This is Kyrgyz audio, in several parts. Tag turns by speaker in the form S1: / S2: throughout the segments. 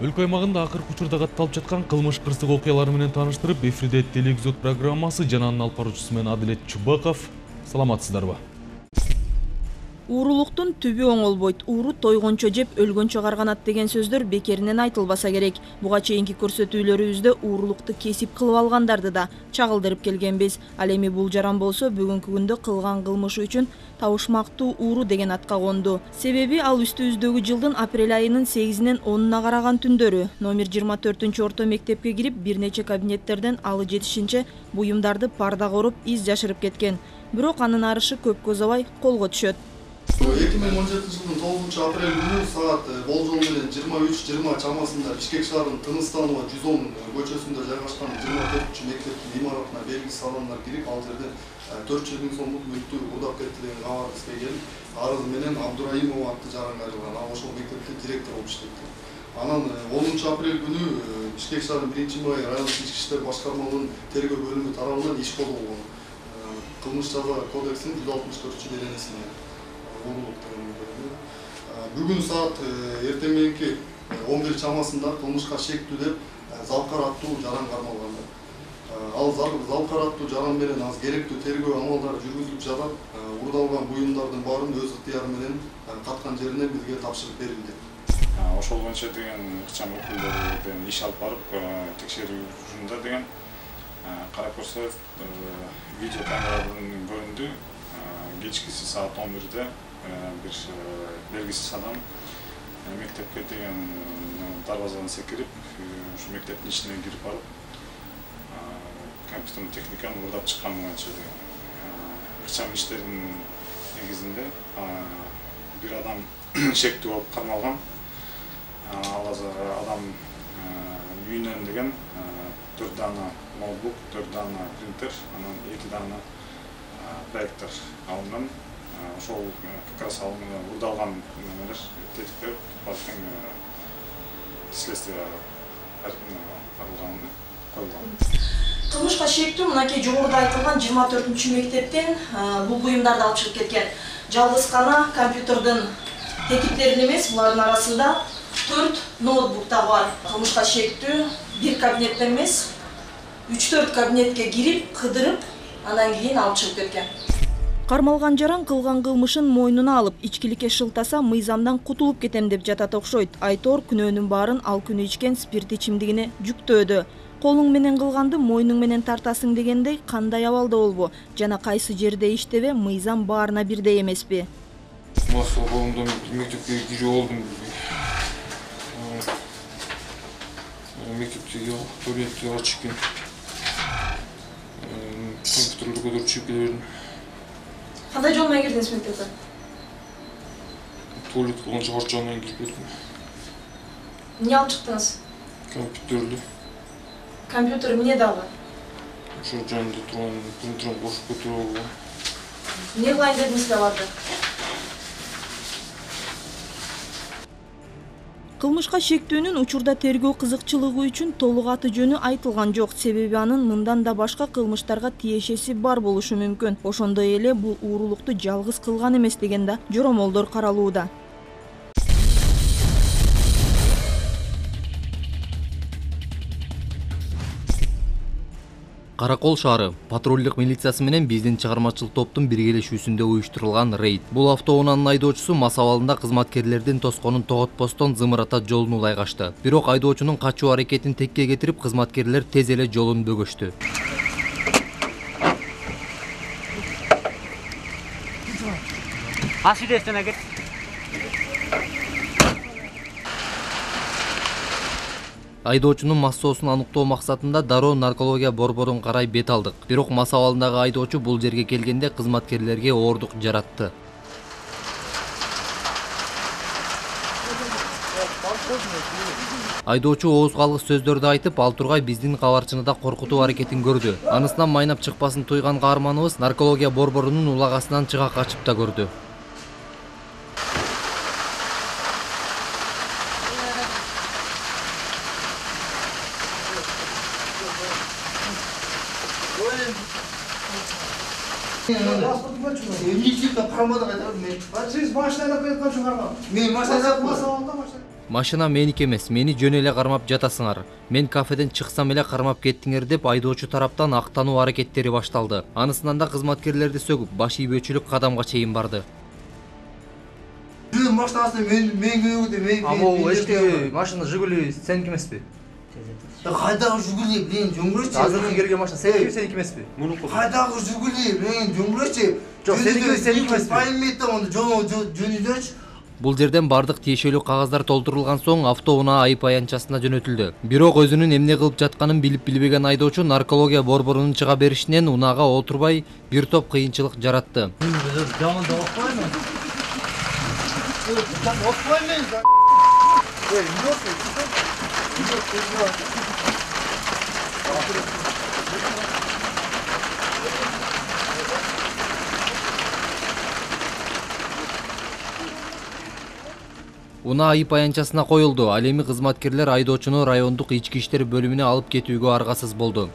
S1: Өлкө аймагында акыркы учурда катталып жаткан кылмыш кырсык окуялары менен тааныштырып, эфирде телевизор программасы жана анын алып баруучусу мен Адилет Чубаков. Саламатсыздарбы?
S2: Уурулуктун түбү оңолбойт, ууру тойгончо жеп өлгөнчө карганат деген сөздөр бекеринен айтылбаса керек. Буга чейинки көрсөтүүлөрүбүздө уурулукту кесип кылып алгандарды да чагылдырып келгенбиз. Ал эми бул жаран болсо бүгүнкү күндө кылган кылмышы үчүн табышмактуу ууру деген атка конду. Себеби ал үстүбүздөгү жылдын апрель айынын 8-нен 10-уна караган түндөрү номер 24-орто мектепке кирип, бир нече кабинеттерден алы жетишинче буюмдарды пардага оруп, из жашырып кеткен. Бирок анын арышы көпкө узабай колго түшөт.
S3: 2017 жылдын 9 апрель күнү саат болжол менен 23:20 чамасында Бишкек шаарынын Тыныстанова 110 көчөсүндө жайгашкан 24 мектептин имаратына белгисиз адамдар кирип, ал жерден 400 000 сомдук мүлктү урдап кетти деген кабар бизге келип, арыз менен Абдураимова аттуу жаранга ал ошол мектептин директору болуп иштепти. Анан 10 апрель күнү Бишкек шаарынын 1-май райондук ички иштер башкармалыгынын тергөө бөлүмү тарабынан иш козголгон. Кылмыш жаза кодексинин 164-беренесине. Бүгүн саат эртең мененки 11 чамасында кылмышка шектүү деп Залкар аттуу жаран кармалган. Ал Залкар аттуу жаран менен аз керектүү тергөө амалдары жүргүзүлүп жатат. Урдалган буюмдардын баарын өз ыктыяры менен каткан жерине бизге тапшырып берилди.
S4: Ошол боюнча деген ыкчам өкүлдөрү иш алып барып, текшерүү учурунда деген карап көрсө, видео камерадан көрүндү. Кечкиси саат 11-де bir belgisiz adam mektepke деген дарбазадан секирип, ушу мектептин ичине кирип барып, компьютердик техниканы урдап чыккан боюнча ыкчам иштердин негизинде бир адам шектүү болуп кармалган. Ал адам үйүнөн деген 4 дана ноутбук, 4 дана принтер, анан 2 дана проектор алынган. Ошол как раз урдалган нелер тетиктер баардык следствие каралган, коюлган.
S2: Кылмышка шектүү мынакей жогоруда айтылган 24-мектептен бул буюмдарды алып чыгып кеткен. Жалгыз гана компьютердин тетиктерин эмес, булардын арасында 4 ноутбук да бар. Кылмышка шектүү бир кабинеттен эмес, 3-4 кабинетке кирип, кыдырып, андан кийин алып чыгып кеткен. Кармалган жаран кылган кылмышын мойнуна алып, ичкиликке шылтаса мыйзамдан кутулуп кетем деп жатат окшойт. Айтор күнөөнүн баарын ал күнү ичкен спирт ичимдигине жүктөөдү. Колуң менен кылганды мойнуң менен тартасың дегендей кандай абалда болбу жана кайсы жерде иштебе мыйзам баарына бирдей эмеспи?
S5: Масыл колумдан мектепке кирип алдым. Мектепте туалетте ачык экен. Компьютерди көтөрүп чыгып келе бердим.
S2: Кандай жол менен кирдиңиз мектепке?
S5: Туалет кылганча арт жагынан кирип кеттим.
S2: Эмне алып чыктыңыз?
S5: Компьютерди.
S2: Компьютер эмне дагы?
S5: Ошол жанында турган принтерди кошуп көтөрүп алгам.
S2: Эмне кылайын дедиңиз аларды? Кылмышка шектүүнүн учурда тергөө кызыкчылыгы үчүн толук аты жөнү айтылган жок. Себеби анын мындан да башка кылмыштарга тиешеси бар болушу мүмкүн. Ошондой эле бул уурулукту жалгыз кылган эмес деген да жоромолдор каралууда.
S6: Каракол шаары патрулдук милициясы менен биздин чыгармачыл топтун биргелешүүсүндө уюштурулган рейд. Бул автоунаанын айдоочусу мас абалында кызматкерлердин тосконун тоготпостон зымырата жолун улай качты. Бирок айдоочунун качуу аракетин текке кетирип, кызматкерлер тез эле жолун бөгөштү. Айдоочунун массоосун аныктоо максатында дароо наркология борборун карай бет алдык. Бирок мас абалындагы айдоочу бул жерге келгенде кызматкерлерге оордук жаратты. Айдоочу ооз калгыс сөздөрдү айтып, ал тургай биздин кабарчыны да коркутуу аракетин көрдү. Анысынан майнап чыкпасын туйган каарманыбыз наркология борборунун улагасынан чыга качып да көрдү.
S7: Siz başlayalım ben kaçın araba. Ben başlayalım.
S6: Машина меники эмес, мени жөн эле кармап жатасыңар. Мен кафеден чыксам эле кармап кеттиңер деп айдоочу тараптан актануу аракеттери башталды. Анысынан да кызматкерлерди сөгүп, баш ийбөөчүлүк кадамга чейин барды.
S7: Машинасы мен көйгөдө
S8: Ал эчтеги машина Жигули сеники эмеспи?
S7: Кайдагы Жигули мен жөнгөрчү.
S8: Азыркы келген машина сеники эмеспи?
S7: Кайдагы Жигули мен жөнгөрчү.
S8: Жок, сеники эмеспи?
S7: Пайметтен онда жөнүдөчү.
S6: Бул жерден бардык тиешелүү кагаздар толтурулган соң автоунаа айып аянтчасына жөнөтүлдү. Бирок өзүнүн эмне кылып жатканын билип-билбеген айдоочу наркология борборунун чыга беришинен унаага отурбай бир топ кыйынчылык жаратты. Унаа айып аянтчасына коюлду. Ал эми кызматкерлер айдоочуну райондук ички иштер бөлүмүнө алып кетүүгө аргасыз болду.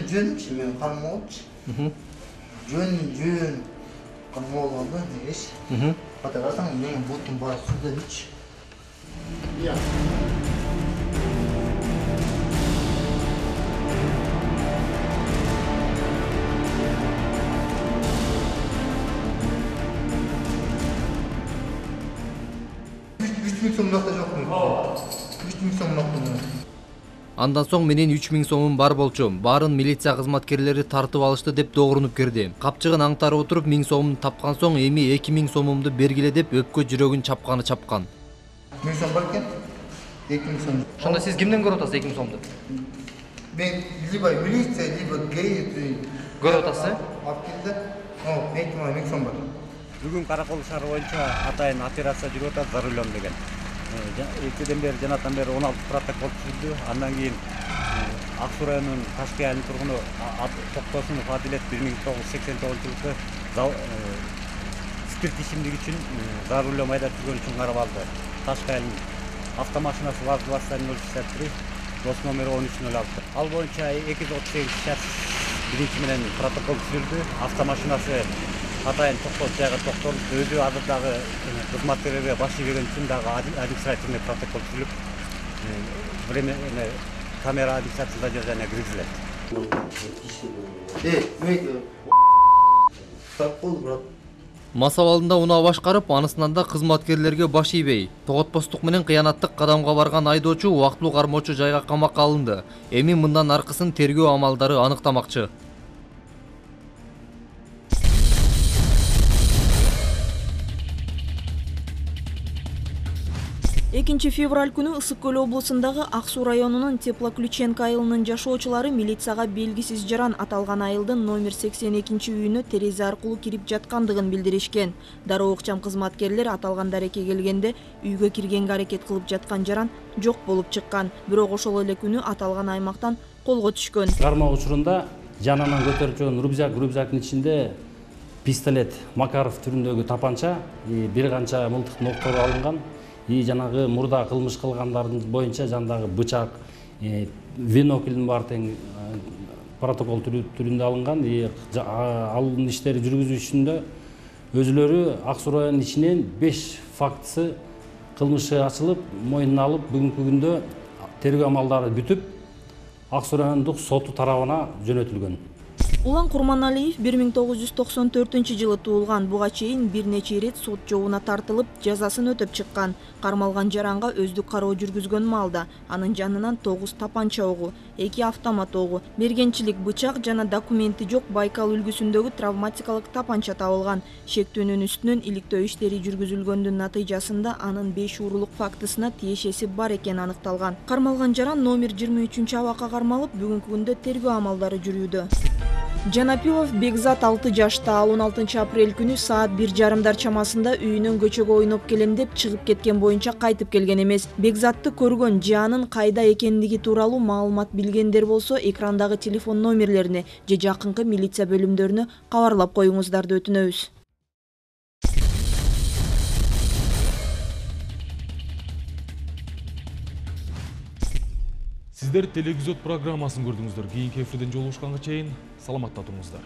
S7: Жөнчү мен кармоочу. Жөн кармоолганда дегеш. Ата карасаң мен бутум бар суда ич.
S6: Андан соң менин 3000 сомум бар болчу. Баарын милиция кызматкерлери тартып алышты деп догрунуп кирди. Капчыгын аңтарып отуруп 1000 сомун тапкан соң эми 2000 сомумду бергиле деп өпкө жүрөгүн чапкан.
S7: 1000 сом бар экен. 2000 сом.
S8: Ошондо сиз кимден көрүп атасыз 2000 сомду?
S7: Мен либо милиция, либо ГАИ
S8: Көрүп атасыз?
S7: Алып келди. Мен 1000 сом бар.
S9: Бүгүн Каракол шаары боюнча атайын операция жүрүп атат за рулем деген. Экиден бери жанатан бери 16 протокол түзүлдү. Андан кийин Ак Суу районунун Ташкы айылынын тургуну Токтосунов Адилет 1989-жылы спирт ичимдик үчүн за рулем айдап жүргөн үчүн каралды. Ташкы айылынын автомашинасы ВАЗ-2103 дос номери 1306. Ал боюнча 238 шарт биринчи менен протокол түзүлдү. Автомашинасы атайын жайга токтолуп, өзү азырдагы кызматкерлерге баш ийбеген үчүн дагы административный протокол түзүлүп, камера администрация задержания киргизилет.
S6: Мас абалында унаа башкарып, анысынан да кызматкерлерге баш ийбей, тоготпостук менен кыянаттык кадамга барган айдоочу убактылуу кармоочу жайга камакка алынды. Эми мындан аркысын тергөө амалдары аныктамакчы.
S2: 2 февраль күнү Ысык Көл облусундагы Ак Суу районунун Теплоключенко айылынын жашоочулары милицияга белгисиз жаран аталган айылдын номер 82-үйүнө терезе аркылуу кирип жаткандыгын билдиришкен. Дароо ыкчам кызматкерлер аталган дарекке келгенде үйгө киргенге аракет кылып жаткан жаран жок болуп чыккан. Бирок ошол эле күнү аталган аймактан колго түшкөн.
S10: Кармоо учурунда жанынан көтөрүп жүргөн рюкзактын ичинде пистолет Макаров түрүндөгү тапанча, бир канча мылтык ноктор алынган. Жанагы мурда кылмыш кылгандардын боюнча жандагы бычак, виноклдун бар тең протокол түрүндө алынган. Алын иштери жүргүзүүчүндө өзүлөрү Ак Суу районунун ичинен 5 фактысы кылмышы ачылып, мойнуна алып, бүгүнкү күндө тергөө амалдары бүтүп, Ак Суу райондук соту тарабына жөнөтүлгөн.
S2: Улан Курманалиев 1994-жылы туулган. Буга чейин бир нече ирет сот жообуна тартылып, жазасын өтөп чыккан. Кармалган жаранга өздүк кароо жүргүзгөн маалда анын жанынан 9 тапанча огу, 2 автомат огу, мергенчилик бычак жана документи жок Байкал үлгүсүндөгү травматикалык тапанча табылган. Шектүүнүн үстүнөн иликтөө иштери жүргүзүлгөндүн натыйжасында анын 5 уурулук фактысына тиешеси бар экени аныкталган. Кармалган жаран номер 23-абакка кармалып, бүгүнкү күндө тергөө амалдары жүрүүдө. Жанапилов Бекзат 6 жашта. Ал 16 апрель күнү саат 1:30 чамасында үйүнөн көчөгө ойноп келем деп чыгып кеткен боюнча кайтып келген эмес. Бекзатты көргөн же анын кайда экендиги тууралуу маалымат билгендер болсо, экрандагы телефон номерлерине же жакынкы милиция бөлүмдөрүнө кабарлап коюңуздарды өтүнөбүз.
S1: Сиздер телевизор программасын көрдүңүздөр. Кийинки эфирден жолугушканга чейин саламатта туруңуздар.